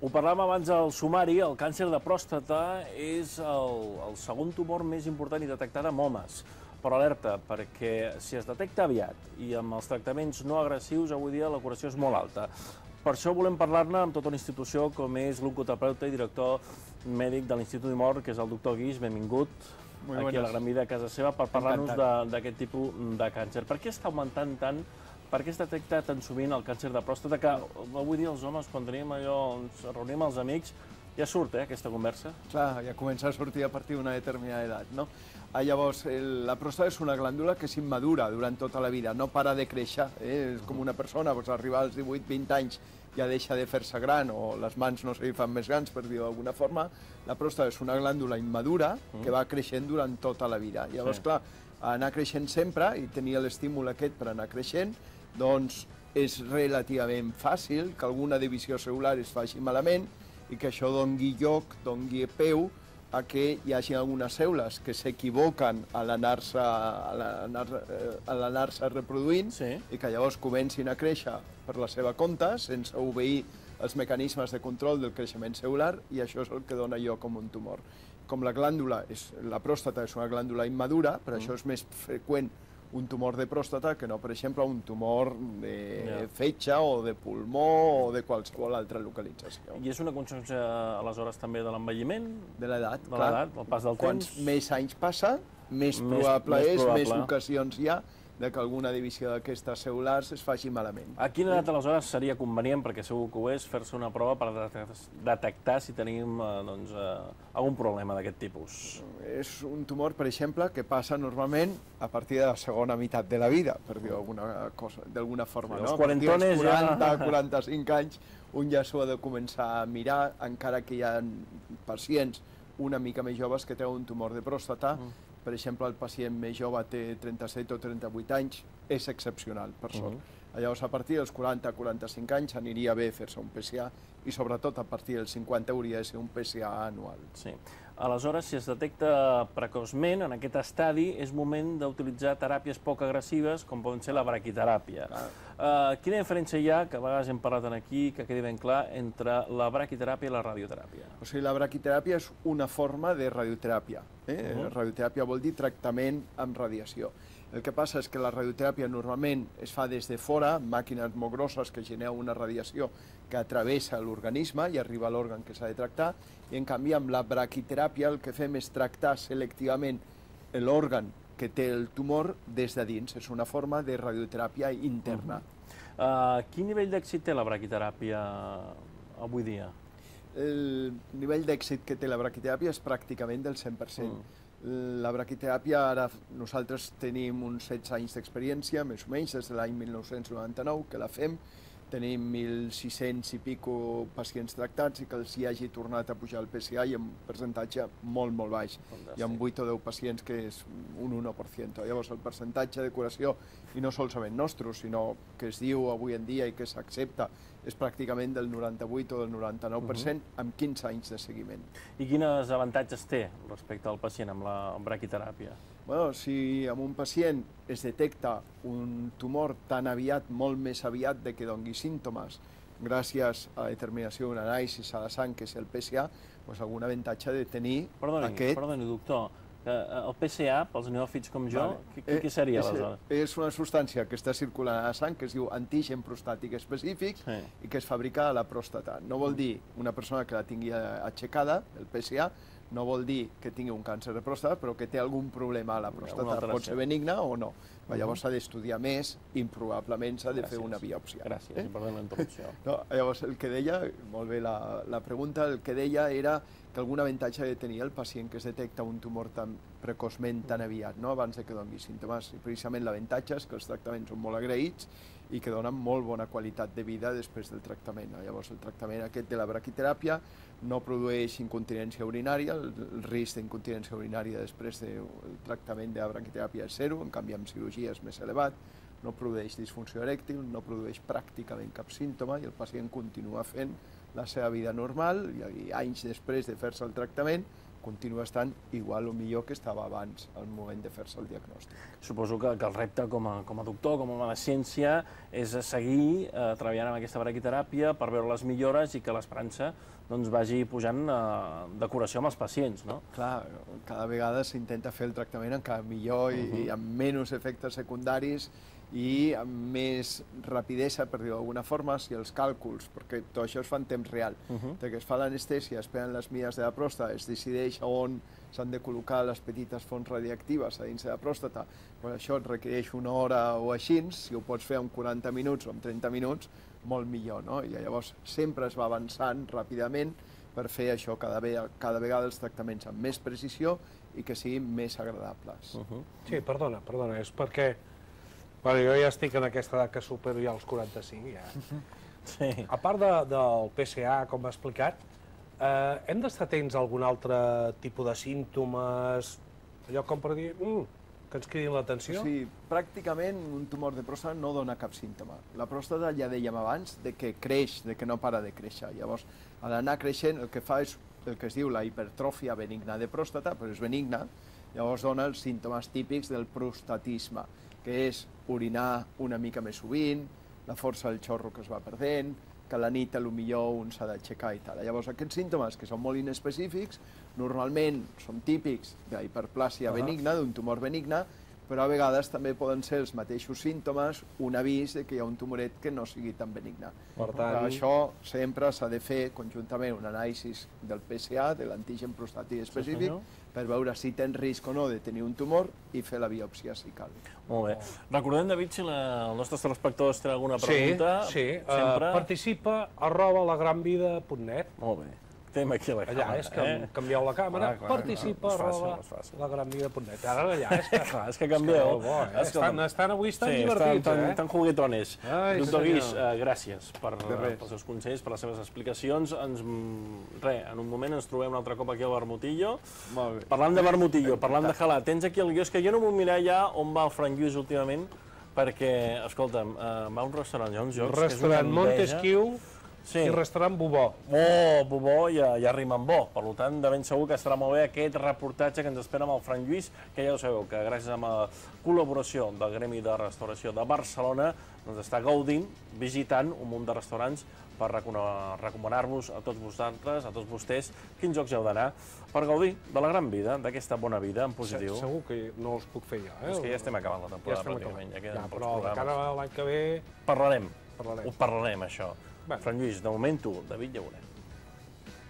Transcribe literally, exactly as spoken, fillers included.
Ho parlàvem abans al sumari, el càncer de pròstata és el, el segon tumor més important i detectat en homes. Però alerta, perquè si es detecta aviat i amb els tractaments no agressius, avui dia la curació és molt alta. Per això volem parlar-ne amb tota una institució com és l'oncoterapeuta i director mèdic de l'Institut Dimor, que és el doctor Guix. Benvingut aquí a la Gran Vida a casa seva per parlar-nos d'aquest tipus de càncer. Per què està augmentant tant? Per què es detecta tan sovint el càncer de pròstata? Que avui dia els homes, quan tenim allò, ens reunim amb els amics, ja surt, eh, aquesta conversa? Clar, ja comença a sortir a partir d'una determinada edat, no? Ah, llavors, el, la pròstata és una glàndula que és immadura durant tota la vida, no para de créixer, eh? És com una persona, doncs, arribar als divuit vint anys ja deixa de fer-se gran, o les mans no se li fan més grans, per dir-ho d'alguna forma. La pròstata és una glàndula immadura que va creixent durant tota la vida. Llavors, sí. Clar, anar creixent sempre i tenir l'estímul aquest per anar creixent, doncs és relativament fàcil que alguna divisió cel·lular es faci malament i que això doni lloc, doni peu a que hi hagi algunes cèl·lules que s'equivoquen a l'anar-se reproduint, sí. I que llavors comencin a créixer per la seva compte, sense obeir els mecanismes de control del creixement cel·lular, i això és el que dona lloc a un tumor. Com la glàndula, és, la pròstata és una glàndula immadura, per mm. això és més freqüent un tumor de pròstata que no, per exemple, un tumor de yeah. fetge o de pulmó o de qualsevol altra localització. I és una conseqüència, aleshores, també de l'envelliment? De l'edat, clar. De l'edat, el pas del temps. Quants més anys passa, més, més probable més és, probable. més ocasions hi ha de que alguna divisió d'aquestes cel·lulars es faci malament. A quina edat, aleshores, seria convenient, perquè segur que ho és, fer-se una prova per detectar si tenim doncs, algun problema d'aquest tipus? És un tumor, per exemple, que passa normalment a partir de la segona meitat de la vida, per dir-ho d'alguna forma. Els quarantones ja... quaranta, quaranta-cinc anys, un ja s'ho ha de començar a mirar, encara que hi ha pacients una mica més joves que tenen un tumor de pròstata. Per exemple, el pacient més jove té trenta-set o trenta-vuit anys, és excepcional, per sort. Llavors, a partir dels quaranta a quaranta-cinc anys aniria bé fer-se un P S A i, sobretot, a partir dels cinquanta hauria de ser un P S A anual. Sí. Aleshores, si es detecta precoçment, en aquest estadi, és moment d'utilitzar teràpies poc agressives, com poden ser la braquiteràpia. Uh, quina diferència hi ha, que a vegades hem parlat aquí, que quedi ben clar, entre la braquiteràpia i la radioteràpia? O sigui, la braquiteràpia és una forma de radioteràpia. Eh? Uh-huh. Radioteràpia vol dir tractament amb radiació. El que passa és que la radioteràpia normalment es fa des de fora, màquines molt grosses que generen una radiació que travessa l'organisme i arriba a l'òrgan que s'ha de tractar, i en canvi amb la braquiteràpia el que fem és tractar selectivament l'òrgan que té el tumor des de dins. És una forma de radioteràpia interna. Uh-huh. uh, quin nivell d'èxit té la braquiteràpia avui dia? El nivell d'èxit que té la braquiteràpia és pràcticament del cent per cent. Mm. La braquiteràpia, ara nosaltres tenim uns setze anys d'experiència, més o menys, des de l'any mil nou-cents noranta-nou, que la fem. Tenim mil sis-cents i pico pacients tractats i que els hi hagi tornat a pujar el P S A i amb un percentatge molt, molt baix. Fantàstic. Hi ha vuit o deu pacients que és un u per cent. Llavors, el percentatge de curació, i no solament nostre, sinó que es diu avui en dia i que s'accepta, és pràcticament del noranta-vuit o del noranta-nou per cent uh-huh. amb quinze anys de seguiment. I quins avantatges té respecte al pacient amb la braquiteràpia? Bueno, si amb un pacient es detecta un tumor tan aviat, molt més aviat de que doni símptomes, gràcies a la determinació d'un anàlisi a la sang, que és el P S A, doncs algun avantatge de tenir perdoni, aquest... Perdoni, doctor, el P S A, pels neòfits com jo, vale. què, què seria aleshores? És una substància que està circulant a la sang, que es diu antigen prostàtic específic, sí. I que es fabrica a la pròstata. No vol dir una persona que la tingui aixecada, el P S A, no vol dir que tingui un càncer de pròstata, però que té algun problema a la pròstata. Pot ser benigna o no. Uh-huh. Llavors s'ha d'estudiar més i probablement s'ha de Gràcies. fer una biòpsia. Gràcies, eh? perdó la interrupció. No, llavors el que deia, molt bé la, la pregunta, el que deia era que algun avantatge de tenir el pacient que es detecta un tumor tan precoçment, tan aviat, no? Abans de que doni símptomes. I precisament l'avantatge és que els tractaments són molt agraïts i que donen molt bona qualitat de vida després del tractament. Llavors el tractament aquest de la braquiteràpia no produeix incontinència urinària, el risc d'incontinència urinària després del tractament de la braquiteràpia és zero, en canvi amb cirurgia és més elevat, no produeix disfunció erèctil, no produeix pràcticament cap símptoma i el pacient continua fent la seva vida normal i anys després de fer-se el tractament continua estant igual o millor que estava abans, al moment de fer-se el diagnòstic. Suposo que, que el repte com a, com a doctor, com a home de ciència, és seguir eh, treballant amb aquesta braquiteràpia per veure les millores i que l'esperança doncs, vagi pujant eh, de curació amb els pacients, no? Clar, cada vegada s'intenta fer el tractament encara millor i, uh -huh. i amb menys efectes secundaris i amb més rapidesa, per dir-ho d'alguna forma, si els càlculs, perquè tot això es fa en temps real, uh -huh. de que es fa l'anestèsia, es prenen les mides de la pròstata, es decideix on s'han de col·locar les petites fonts radioactives a dins de la pròstata, però això et requereix una hora o així, si ho pots fer en quaranta minuts o en trenta minuts, molt millor, no? I llavors sempre es va avançant ràpidament per fer això cada, ve cada vegada els tractaments amb més precisió i que siguin més agradables. Uh -huh. Sí, perdona, perdona, és perquè bueno, jo ja estic en aquesta edat que supero ja els quaranta-cinc, ja. Sí. A part de, del P C A, com ha explicat, eh, hem d'estar atents a algun altre tipus de símptomes, allò com per dir, mm, que ens cridin l'atenció? Sí, pràcticament un tumor de pròstata no dona cap símptoma. La pròstata, ja dèiem abans, de que creix, de que no para de créixer. Llavors, a l'anar creixent, el que fa és el que es diu la hipertròfia benigna de pròstata, però és benigna, llavors dona els símptomes típics del prostatisme, que és orinar una mica més sovint, la força del xorro que es va perdent, que a la nit potser un s'ha d'aixecar i tal. Llavors aquests símptomes, que són molt inespecífics, normalment són típics d'hiperplàsia uh -huh. benigna, d'un tumor benigne, però a vegades també poden ser els mateixos símptomes un avís de que hi ha un tumoret que no sigui tan benigne. Per tant... Per això sempre s'ha de fer conjuntament un anàlisi del P C A, de l'antigen prostàtic específic, sí, per veure si tens risc o no de tenir un tumor i fer la biòpsia si cal. Molt bé. Recordem, David, si la, els nostres telespectadors tenen alguna pregunta... Sí, sí. Sempre... Uh, participa arroba lagranvida punt net. Molt bé. Tema aquí a la càmera. Allà és que eh? canvieu la càmera, ah, clar, participa no, arroba lagranvida punt net. Ara allà és que... clar, és que canvieu. És que, bo, eh? estan, estan avui estan sí, divertits, estan, eh? Estan juguetones. Ai, Doctor Guix, uh, gràcies per, pels seus consells, per les seves explicacions. Ens, re, en un moment ens trobem un altre cop aquí al Vermutillo. Molt bé. Parlant de Vermutillo, parlant de Jalà, tens aquí el guió, és que jo no vull mirar ja on va el Frank Lluís últimament, perquè, escolta'm, uh, va a un restaurant, hi ha uns jocs... Restaurant Montesquieu. Sí. I restaurant Bobó. Oh, Bobó ja, ja rima amb bo. Per tant, de ben segur que estarà molt bé aquest reportatge que ens espera amb el Frank Lluís, que ja ho sabeu, que gràcies a la col·laboració del Gremi de Restauració de Barcelona doncs està gaudint, visitant un munt de restaurants per recomanar-vos a tots vosaltres, a tots vostès, quins jocs heu d'anar per gaudir de la gran vida, d'aquesta bona vida en positiu. Segur que no els puc fer jo, eh? És que ja estem acabant la temporada, pràcticament. Ja, però de cara a l'any que ve... Parlarem. Ho parlarem, això. Frank Lluís, de moment tu, David Llauret.